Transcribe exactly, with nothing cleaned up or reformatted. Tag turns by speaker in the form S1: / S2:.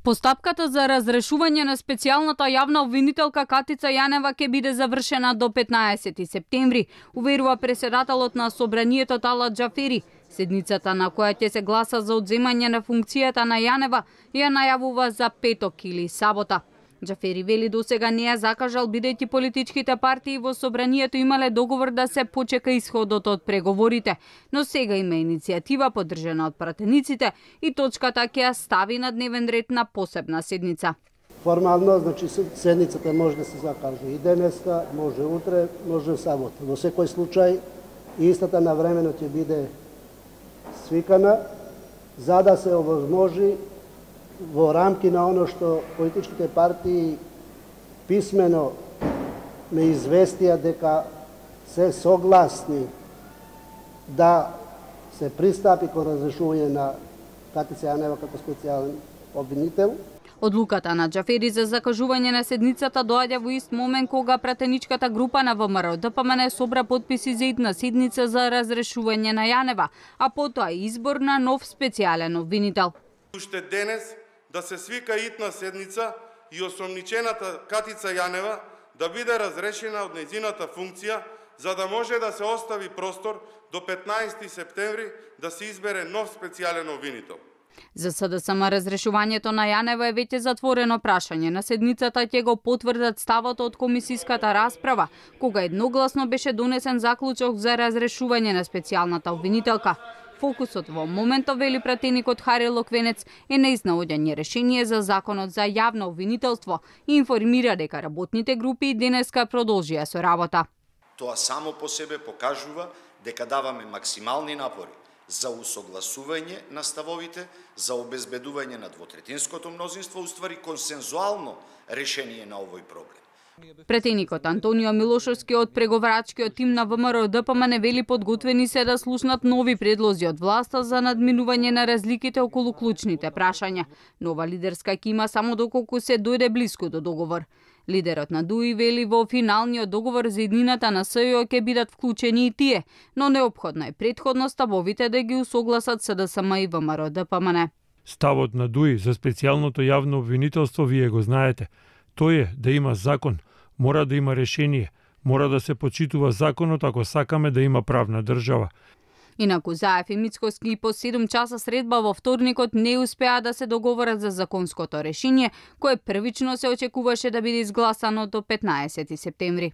S1: Постапката за разрешување на специјалната јавна обвинителка Катица Јанева ќе биде завршена до петнаесети септември, уверува председателот на Собранието Талат Џафери. Седницата на која ќе се гласа за одземање на функцијата на Јанева ја најавува за петок или сабота. Џафери вели досега не ја закажал бидејќи политичките партии во Собранието имале договор да се почека исходот од преговорите, но сега има иницијатива поддржана од пратениците и точката ќе ја стави на дневен ред на посебна седница.
S2: Формално, значи седницата може да се закаже и денеска, може утре, може сабота. Во секој случај истата навремено ќе биде свикана за да се овозможи во рамки на оно што политичките партии писмено ме известија дека се согласни да се пристапи кон разрешување на Катица Јанева како специјален обвинител.
S1: Одлуката на Џафери за закажување на седницата доаѓа во ист момент кога пратеничката група на ВМРО Д П М Н собра потписи за идна седница за разрешување на Јанева, а потоа избор на нов специјален обвинител.
S3: Уште денес да се свика итна седница и осомничената Катица Јанева да биде разрешена од нејзината функција, за да може да се остави простор до петнаесети септември да се избере нов специјален обвинител.
S1: За С Д С М разрешувањето на Јанева е веќе затворено прашање. На седницата ќе го потврдат ставот од комисиската расправа, кога едногласно беше донесен заклучок за разрешување на специјалната обвинителка. Фокусот во моментот, вели пратеникот Хари Локвенец, е на изнаоѓање решение за законот за јавно обвинителство и информира дека работните групи денеска продолжија со работа.
S4: Тоа само по себе покажува дека даваме максимални напори за усогласување на ставовите, за обезбедување на двотретинското мнозинство, уствари консензуално решение на овој проблем.
S1: Претеникот Антонио Милошовски од преговарачкиот тим на ВМРО Д П М Н вели подготвени се да слушнат нови предлози од власта за надминување на разликите околу клучните прашања. Нова лидерска екима само доколку се дојде блиску до договор. Лидерот на Д У И вели во финалниот договор за иднината на С Ј О ќе бидат вклучени и тие, но неопходно е претходно ставовите да ги усогласат С Д С М и ВМРО Д П М Н.
S5: Ставот на Д У И за специјалното јавно обвинителство вие го знаете. Тој е да има закон, мора да има решение, мора да се почитува законот ако сакаме да има правна држава.
S1: Инаку Заев и Мицкоски по седум часа средба во вторникот не успеа да се договорат за законското решение, кое првично се очекуваше да биде изгласано до петнаесети септември.